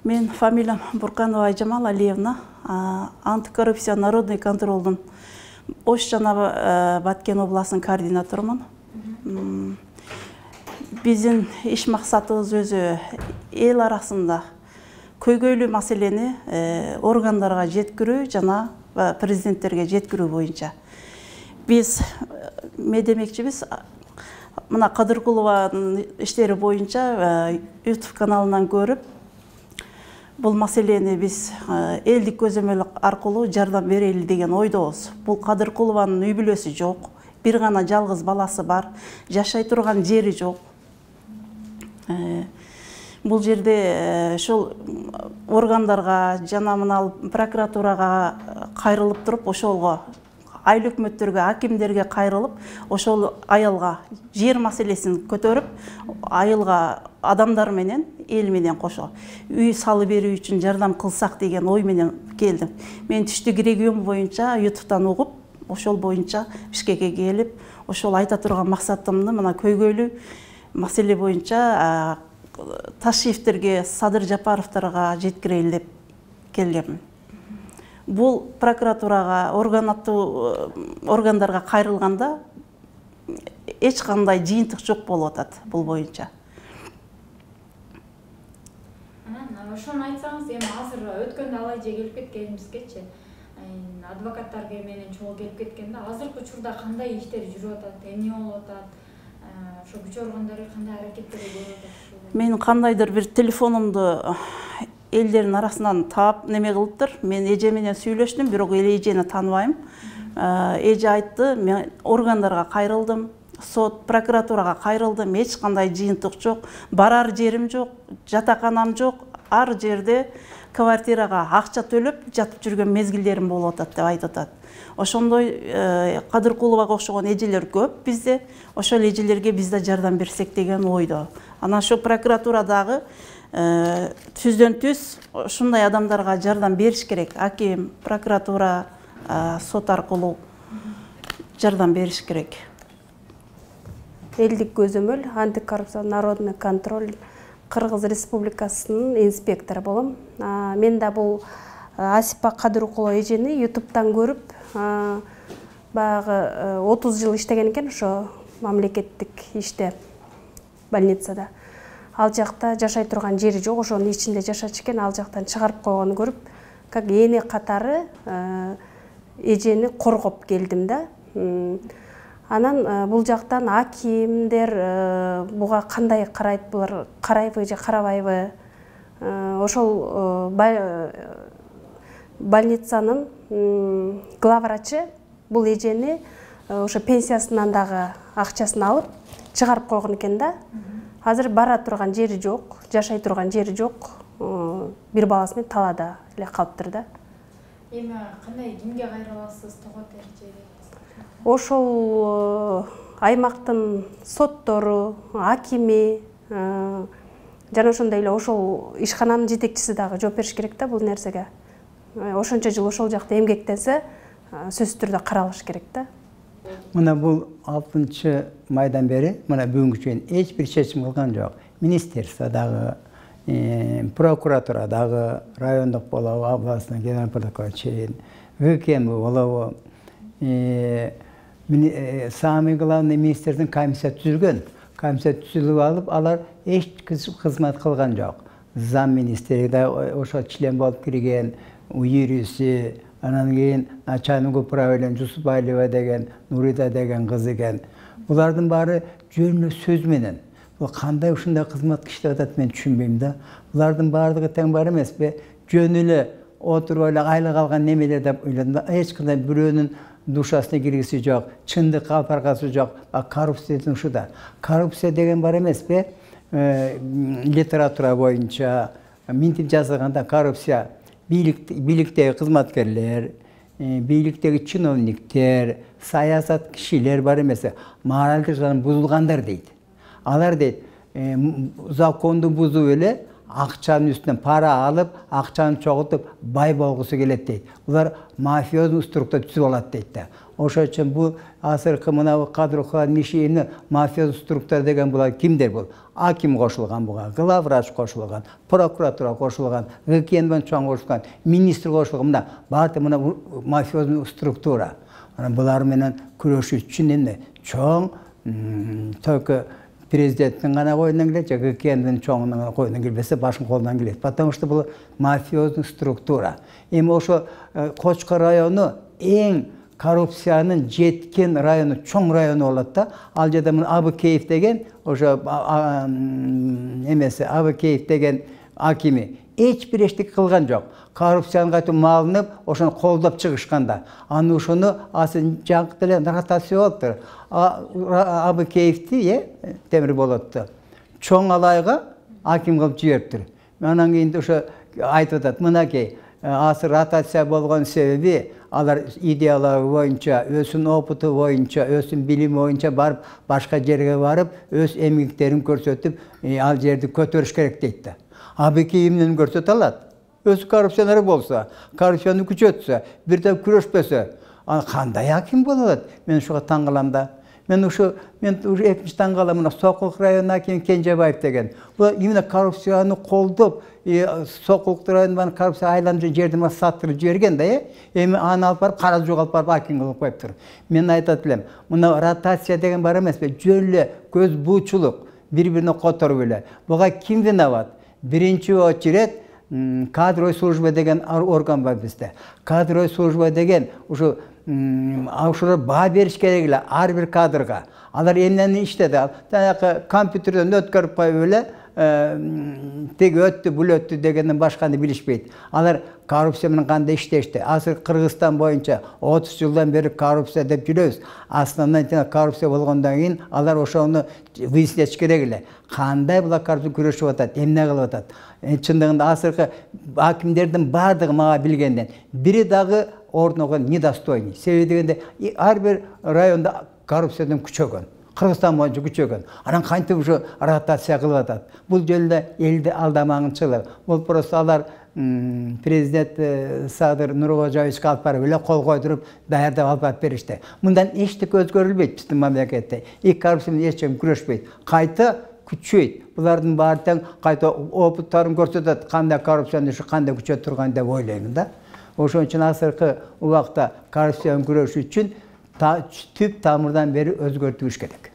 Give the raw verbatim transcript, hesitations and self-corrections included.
Мен фамилиям Бурканова Айжамал Алиевна, антикоррупция народный контролдун Ош жана Баткен областынын координаторумун. Биздин иш максатыбыз өзү эл арасында көйгөйлүү маселени органдарга жеткирүү жана президенттерге жеткирүү боюнча. Биз медемекчибиз мына Кадыркулованын иштери боюнча YouTube каналынан көрүп, бул маселени биз элдик көзөмөл аркылуу жардам берели деген ойдобуз. Бул Кадыркулованын үй бүлөсү жок, бир гана жалгыз баласы бар, жашай турган жери жок. Бул жерде ошол органдарга жана мына прокуратурага кайрылып туруп, ошолго айыл өкмөттөргө, акимдерге кайрылып, ошол аялга жер маселесин көтөрүп, айылга адамдар менен, эл менен кошо үй салып берүү үчүн жардам кылсак деген ой менен келдим. Мен түштүк регион боюнча ютубтан угуп, ошол боюнча Бишкекке келип, ошол айта турган максатымды мына көйгөйлүү маселе боюнча Ташиевтерге, Садыр Жапаровторго жеткирели деп келгенмин. Бул прокуратурага, органаттуу органдарга кайрылганда эч кандай жыйынтык жок болуп атат бул боюнча. Анан ошону айтсаңыз, эми азыр өткөндө алай же келип кеткенибизгечи, адвокаттар менен чогуу келип кеткенде, азыркы учурда кандай иштер жүрүп атат, эмне болуп атат, ошо күч органдары кандай аракеттерди көрүп атат? Мен кандайдыр бир телефонумду элдердин арасынан таап неме кылыптыр. Мен эже менен сүйлөштүм, бирок эл эжени тааныбайм. Эже айтты, мен органдарга кайрылдым, сот, прокуратурага кайрылдым, эч кандай жыйынтык жок, барар жерим жок, жатаканам жок, ар жерде квартирага акча төлөп жатып жүргөн мезгилдерим болуп атат деп айтып атат. Ошондой Кадыркуловага окшогон эжелер көп бизде, ошол эжелерге биз да жардам берсек деген ойдо. Анан ошо прокуратурадагы түздөн түз ушундай адамдарга жардам бериш керек. Аким, прокуратура, сот аркылуу жардам бериш керек. Элдик көзөмөл, антикоррупция народный контроль Кыргыз Республикасынын инспектору болом. Мен да бул Асипа Кадыркулова эжени ютубтан көрүп, баягы отуз жыл иштеген экен ошо мамлекеттик иште, больницада. Ал жакта жашай турган жери жок, ошонун ичинде жашачу экен, ал жактан чыгарып койгонун көрүп, как эне катары эжени коргоп келдим да. Анан бул жактан акимдер буга кандай карайт, булар карайбы же карабайбы? Ошол больницанын главврачы бул эжени ошо пенсиясынан дагы акчасын алып чыгарып койгон экен да. Азыр бара турган жери жок, жашай турган жери жок, бир баласы менен талаада эле калыптыр да. Эми кандай кимге кайра аласыз, тогот эрежеге? Ошол аймактын соттору, акими жана ошондой эле ошол ишкананын жетекчиси дагы жооп бериш керек да бул нерсеге. Ошончо жыл ошол жакта эмгектенсе, сөзсүз түрдө каралыш керек да. Мына бул алтынчы майдан бери, мына бүгүнгү чейин эч бир чечим кылган жок. Министерство дагы, прокуратура дагы, райондук болобу, областный генеральный прокурор чейин, ВКМ болобу, самый главный министрдин комиссия түзүлгөн. Комиссия түзүлүп алып, алар эч кызмат кылган жок. Зам министри да ошо член болуп кирген, юриси, анан кийин начальник управление Жусупалиева деген, Нурида деген кыз экен. Булардын баары жөн эле сөз менен. Бул кандай ушундай кызмат иштеп атат мен түшүнбөйм да. Булардын баардыгы тең бар эмеспи? Жөн эле отуруп эле айлык алган немелер деп ойлодум. Эч кандай бирөөнүн душасына киргиси жок, чындыкка алып баргасы жок. Коррупциянын ушуда. Коррупция деген бар эмеспи? Литература боюнча минтип жазылганда коррупция бийликтеги кызматкерлер, бийликтеги чиновниктер, саясат кишилер бар эмеспи? Моралдык жактан бузулгандар дейт. Алар дейт, законду бузуп эле акчанын үстүнөн пара алып, акчаны чогултуп бай болгусу келет дейт. Булар мафиозный структура түзүп алат дейт да. Ошон үчүн бул азыркы мына Кадырхан Мишиевни мафиозный структура деген булар кимдер бул? Аким кошулган буга, главврач кошулган, прокуратура кошулган, ГКНбен чоң кошулган, министр кошулган. Мына баары мына мафиозный структура. Анан булар менен күрөшүү үчүн эмне чоң только президенттин гана коюнан келет, же ГКНдин чоңунун коюнан келбесе башкы колунан келет. Потому что бул мафиозный структура. Эми ошо Кочкор району эң коррупциянын жеткен району, чоң району болот да. Ал жерде мына Абыкеев деген, ошо эмеси Абыкеев деген акими эч бир эчтеке кылган жок. Коррупцияны кайтып малынып, ошону колдоп чыгышканда. Аны ошону асын жаңы деле ротация болуптур. Абыкеевти, э, Темир Болотту чоң алайга аким кылып жибериптир. Анан кийин ошо айтып атат, мынакей, азыр ротация болгон себеби алар идеялары боюнча, өзүнүн опыту боюнча, өзүнүн билими боюнча барып, башка жерге барып, өз эмгектерин көрсөтүп, ал жерди көтөрүш керек дейт да. Абыкеев эмнени көрсөтө алат? Өзү коррупционер болсо, коррупцияны күчөтсө, бирден күрөшпөсө, кандай аким боло алат? Мен ушуга таң калам да. Мен ушу мен ушу экинчи таң калам, мына Сокулук районунун акими Кенжебаев деген. Бул именно коррупцияны колдоп, Сокулук районунун коррупция айланып жерди саттырып жиберген да, э? Эми аны алып барып, кара жоголтуп барып аким кылып коюптур. Мен айтат элем, мына ротация деген бар эмеспи? Жөн эле көз буучулук, бири-бирине которуп эле. Буга ким виноват? Биринчи очередь кадровый служба деген орган бар бизде. Кадровый служба деген ушу ошолор баа бериш керек эле ар бир кадрга. Алар эмнени иштеди? Жанагы компьютерден өткөрүп коюп эле теги өттү, бул өттү дегенден башканы билишпейт. Алар коррупция менен кандай иштешти? Азыр Кыргызстан боюнча отуз жылдан бери коррупция деп жүрөбүз. Основной коррупция болгондон кийин алар ошону выяснять керек эле. Кандай булар коррупция күрөшүп атат, эмне кылып атат? Чындыгында азыркы акимдердин баардыгы мага билгенден бири дагы ордуна недостойный. Себеби дегенде ар бир районда коррупциядан күчөгөн. Кыргызстан боюнча күчөгөн. Анан кантип ушу ротация кылып атат? Бул жөнүндө элди алдамагынчылык. Бул просто алар президент Садыр Нуркожоевичке алып барып эле кол койдуруп, даярдап алып барып беришти. Мындан эчтеке өзгөрүлбөйт биздин мамлекетте. И коррупция менен эч ким күрөшпөйт. Кайта күчөйт. Булардын баары тең кайта опыттарын көрсөтөт, кандай коррупцияны ушу кандай күчөтүп турган деп ойлойм да. Ошон үчүн азыркы убакта коррупцияны күрөш үчүн түп тамырдан бери өзгөртүш керек.